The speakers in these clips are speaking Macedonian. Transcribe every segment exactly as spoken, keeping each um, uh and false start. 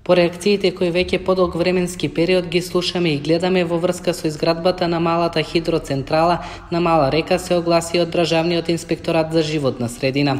По реакциите кои веќе подолг временски период ги слушаме и гледаме во врска со изградбата на малата хидроцентрала на Мала река, се огласи од Државниот инспекторат за животна средина.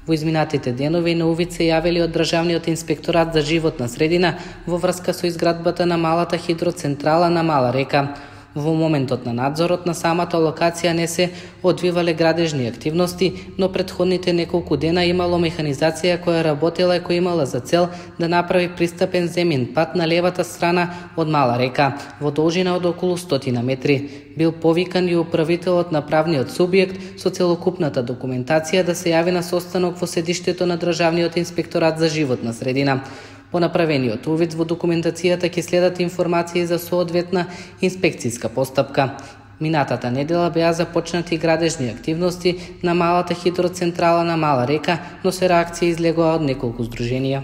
Во изминатите денови на увид се јавили од Државниот инспекторат за животна средина во врска со изградбата на малата хидроцентрала на Мала река. Во моментот на надзорот на самата локација не се одвивале градежни активности, но предходните неколку дена имало механизација која работела и која имала за цел да направи пристапен земен пат на левата страна од Мала река, во должина од околу стотина метри. Бил повикан и управителот на правниот субјект со целокупната документација да се јави на состанок во седиштето на Државниот инспекторат за животна средина. По направениот увид во документацијата ќе следат информации за соодветна инспекцијска постапка. Минатата недела беа започнати градежни активности на малата хидроцентрала на Мала река, но се реакција излегоа од неколку здруженија.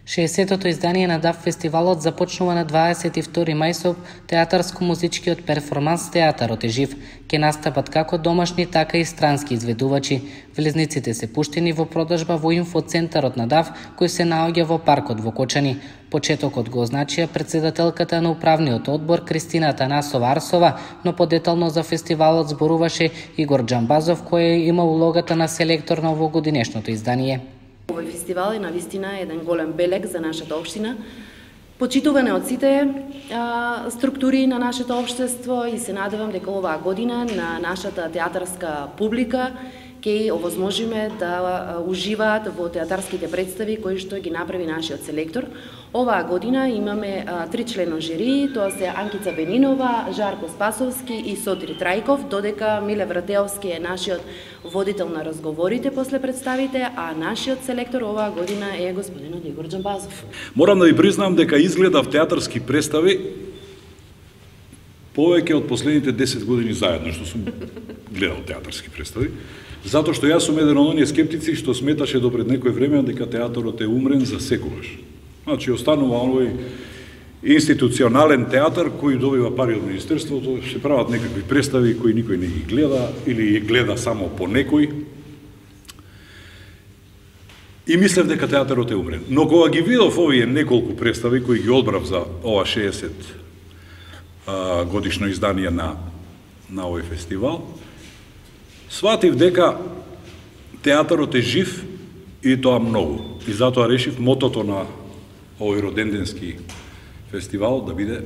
шеесеттото издание на ДАФ фестивалот започнува на дваесет и втори мај со театарско-музичкиот перформанс Театарот е жив. Ке настапат како домашни, така и странски изведувачи. Влезниците се пуштени во продажба во инфоцентарот на ДАФ, кој се наоѓа во паркот во Кочани. Почетокот го означија председателката на управниот одбор Кристина Танасова Арсова, но подетално за фестивалот зборуваше Игор Џамбазов, кој има улогата на селектор на овогодинешното издание. Овој фестивал е навистина еден голем белег за нашата општина, почитуване од сите а, структури на нашето општество и се надевам дека оваа година на нашата театарска публика ќе овозможиме да уживаат во театарските представи кои што ги направи нашиот селектор. Оваа година имаме а, три члено жири, тоа се Анкица Бенинова, Жарко Спасовски и Сотир Трајков, додека Миле Вратеовски е нашиот водител на разговорите после представите, а нашиот селектор оваа година е господинот Игор Џамбазов. Морам да ви признам дека изгледав театарски представи повеќе од последните десет години заедно што сум гледал театарски представи. Затоа што јас сум еден од оние скептици што сметаше до пред некој време дека театарот е умрен за секогаш. Значи, останува овој институционален театар кој добива пари од Министерството, се прават некакви представи кои никој не ги гледа или ги гледа само по некој. И мислев дека театарот е умрен. Но кога ги видов овие неколку представи кои ги одбрав за ова шеесет годишно издание на, на овој фестивал, сватив дека театарот е жив и тоа многу. И затоа решив мотото на овој роденденски фестивал да биде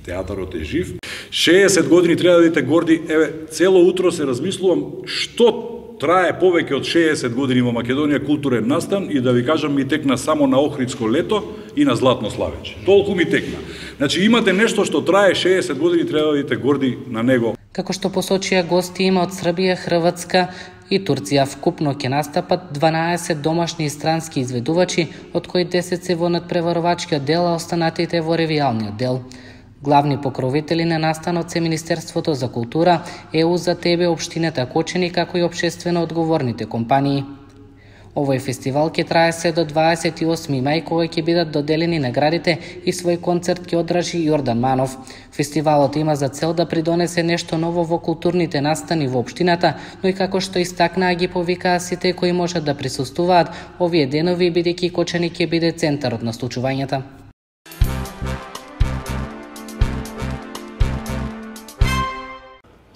театарот е жив. шеесет години треба да бидете горди. Еве, цело утро се размислувам што трае повеќе од шеесет години во Македонија културен настан и да ви кажам ми текна само на Охридско лето и на Златно славече. Толку ми текна. Значи имате нешто што трае шеесет години, треба да бидете горди на него. Како што посочија гости има од Србија, Хрватска и Турција. Вкупно ќе настапат дванаесет домашни и странски изведувачи, од кои десет се во надпреварувачкиот дел, а останатите во ревијалниот дел. Главни покровители на настанот се Министерството за култура, ЕУ за тебе, општината Кочани, како и општествено одговорните компании. Овој фестивал ќе трае се до дваесет и осми мај, кога ќе бидат доделени наградите и свој концерт ќе одржи Јордан Манов. Фестивалот има за цел да придонесе нешто ново во културните настани во општината, но и како што истакнаа ги повикаа сите кои можат да присуствуваат овие денови, бидејќи Кочани ќе биде центарот на случувањата.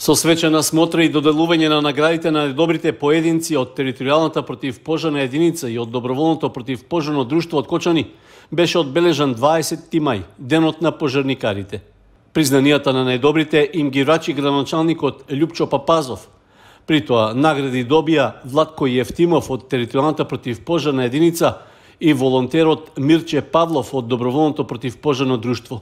Со свечена смотра и доделување на наградите на најдобрите поединци од територијалната противпожарна единица и од доброволното противпожарно друштво од Кочани беше одбележан дваесети мај, денот на пожарникарите. Признанијата на најдобрите им ги врачи градоначалникот Љупчо Папазов. При тоа награди добија Владко Јефтимов од територијалната противпожарна единица и волонтерот Мирче Павлов од доброволното противпожарно друштво.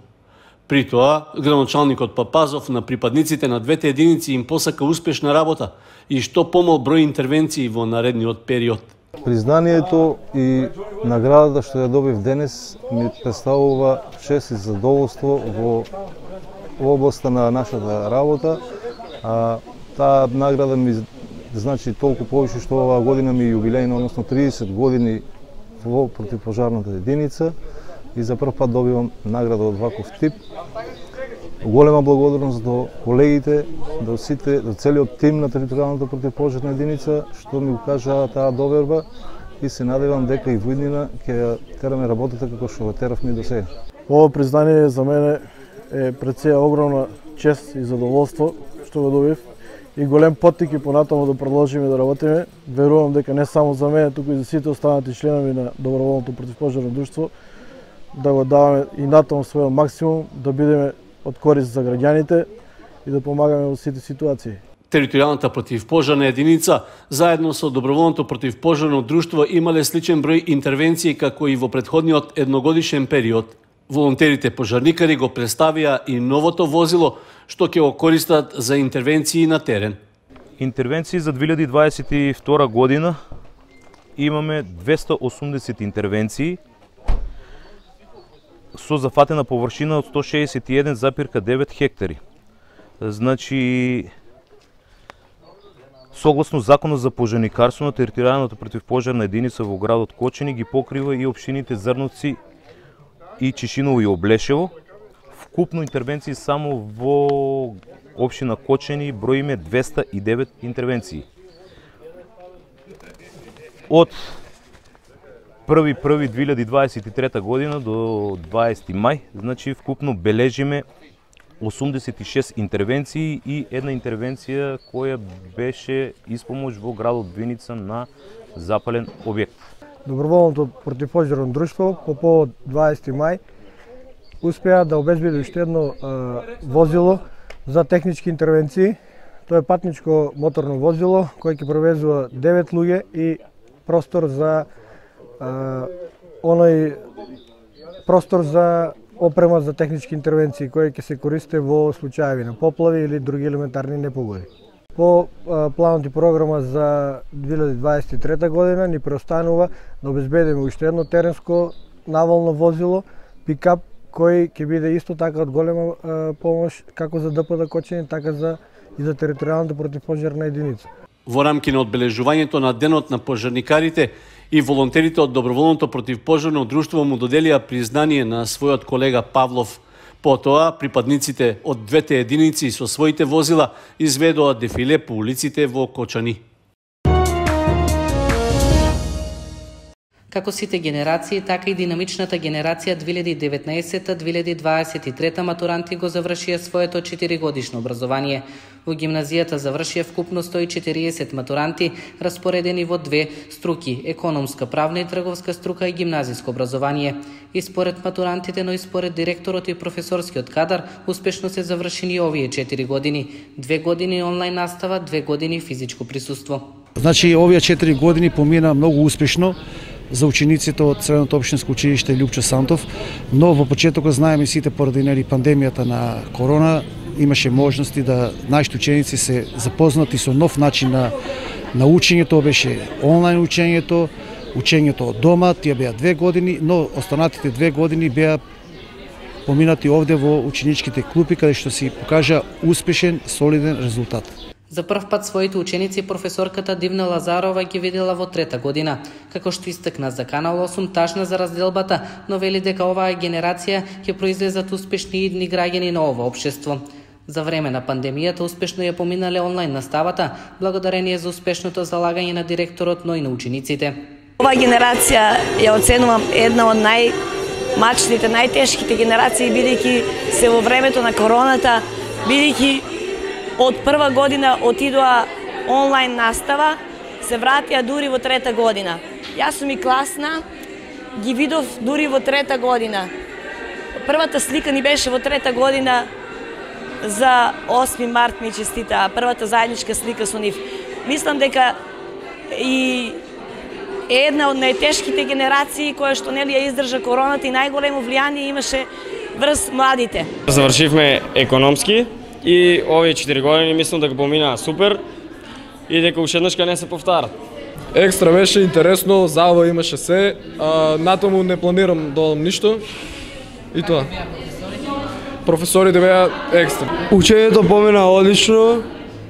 При тоа, градоначалникот Папазов на припадниците на двете единици им посака успешна работа и што помал број интервенции во наредниот период. Признанието и наградата што ја добив денес ми представува чест и задоволство во, во областа на нашата работа. А, таа награда ми значи толку повеќе што оваа година ми е јубилејна, односно триесет години во противпожарната единица. И за прв пат добивам награда од ваков тип. Голема благодарност до колегите, до сите, до целиот тим на територијалната противпожарна единица што ми го кажаа таа доверба и се надевам дека и во иднина ќе ја тераме работата како што го теравме до сега. Ово признание за мене е пред сеја огромна чест и задоволство што го добив и голем поттик и понатаму да продолжиме да работиме. Верувам дека не само за мене, туку и за сите останати членови на доброволното противпожарно друштво да го даваме и натаму својот максимум, да бидеме од корист за граѓаните и да помагаме во сите ситуации. Територијалната противпожарна единица заедно со доброволното противпожарно друштво имале сличен број интервенции како и во претходниот едногодишен период. Волонтерите пожарникари го представија и новото возило што ќе го користат за интервенции на терен. Интервенции за две илјади дваесет и втора година имаме двесте и осумдесет интервенции со зафатена површина од сто шеесет и еден запирка девет хектари. Значи, согласно Законот за пожарникарство, на територијалната противпожарна единица во градот Кочани ги покрива и општините Зрновци и Чешиново и Облешево. Вкупно интервенции само во општина Кочани броиме двесте и девет интервенции. Од први први две илјади дваесет и трета година до дваесети мај, значи вкупно бележиме осумдесет и шест интервенции и една интервенција која беше испомош во градот Виница на запален објект. Доброволното противпожарно друштво по повод дваесети мај успеа да обезбеди уште едно а, возило за технички интервенции. Тоа е патничко моторно возило кое ќе превезува девет луѓе и простор за а, оној простор за опрема за технички интервенции кои ќе се користи во случаеви на поплави или други елементарни непогоди. По а, планот и програма за две илјади дваесет и трета година ни преостанува да обезбедиме уште едно теренско наволно возило, пикап, кој ќе биде исто така од голема а, помош како за ДПД Кочани, така за и за територијалната противпожарна единица. Во рамки на одбележувањето на денот на пожарникарите и волонтерите од доброволното противпожарно друштво му доделија признание на својот колега Павлов. Потоа, припадниците од двете единици со своите возила изведоа дефиле по улиците во Кочани. Како сите генерации, така и динамичната генерација две илјади и деветнаесета - две илјади дваесет и трета матуранти го завршија своето четиригодишно образование. Во гимназијата завршија вкупно сто и четириесет матуранти, распоредени во две струки – економска, правна и трговска струка и гимназиско образование. И според матурантите, но и според директорот и професорскиот кадар, успешно се завршени овие четири години. Две години онлайн настава, две години физичко присуство. Значи, овие четири години помина многу успешно за учениците од Средното општинско училиште Лјупчо Сантов, но во почетокот знаеме сите поради нели пандемијата на корона имаше можности да нашите ученици се запознати со нов начин на на учење. Тоа беше онлайн учењето, учењето од дома, тие беа две години, но останатите две години беа поминати овде во ученичките клупи, каде што си покажа успешен, солиден резултат. За прв пат своите ученици професорката Дивна Лазарова ги видела во трета година. Како што истакна за Канал осум, тажна за разделбата, но вели дека оваа генерација ќе произлезат успешни и идни граѓани на ова општество. За време на пандемијата успешно ја поминале онлайн наставата, благодарение за успешното залагање на директорот, но и на учениците. Оваа генерација ја оценувам една од најмачните, најтешките генерации, бидејќи се во времето на короната, бидејќи од прва година отидоа онлайн настава, се вратија дури во трета година. Јас сум и класна, ги видов дури во трета година. Првата слика ни беше во трета година за осми март ми честита, првата заедничка слика со нив. Мислам дека и една од најтешките генерации која што нели ја издржа короната и најголемо влијание имаше врз младите. Завршивме економски и овие четири години мислам дека поминаа супер и дека уште еднашка не се повтарат. Екстра беше интересно, забава имаше се, а, натаму не планирам да одам ништо и тоа. Професорите беа екстра. Учењето помина одлично,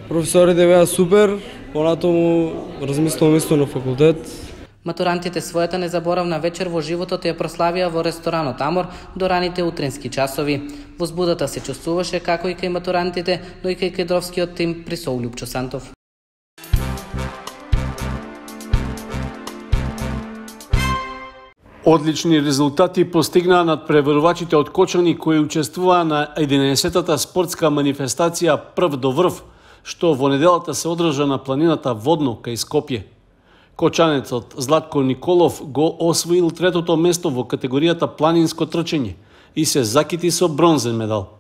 професорите беа супер, понатаму размислувам исто на факултет. Матурантите својата незаборавна вечер во животот ја прославија во ресторанот Амор до раните утрински часови. Возбудата се чувствуваше како и кај матурантите, но и кај кадровскиот тим при Лјупчо Сантов. Одлични резултати постигнаа надпреварувачите од Кочани кои учествуваа на единаесеттата спортска манифестација Прв до врв, што во неделата се одржа на планината Водно кај Скопје. Кочанецот Златко Николов го освоил третото место во категоријата планинско трчење и се закити со бронзен медал.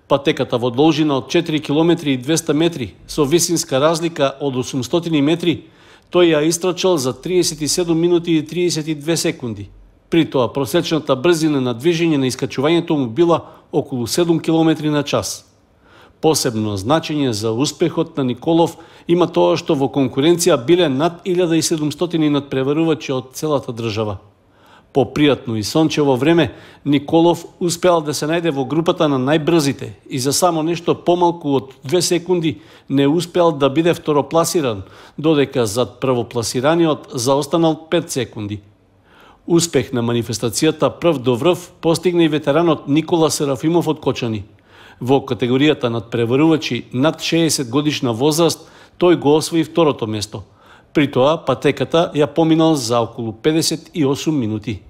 Патеката во должина од четири километри и двесте метри со висинска разлика од осумстотини метри, тој ја истрчал за триесет и седум минути и триесет и две секунди. При тоа просечната брзина на движење на искачувањето му била околу седум километри на час. Посебно значење за успехот на Николов има тоа што во конкуренција биле над илјада и седумстотини надпреварувачи од целата држава. По пријатно и сончево време, Николов успеал да се најде во групата на најбрзите и за само нешто помалку од две секунди не успеал да биде второпласиран, додека зад првопласираниот заостанал пет секунди. Успех на манифестацијата Прв до врв постигна и ветеранот Никола Серафимов од Кочани. Во категоријата надпреварувачи над шеесет годишна возраст, тој го освои второто место. При тоа патеката ја поминал за околу педесет и осум минути.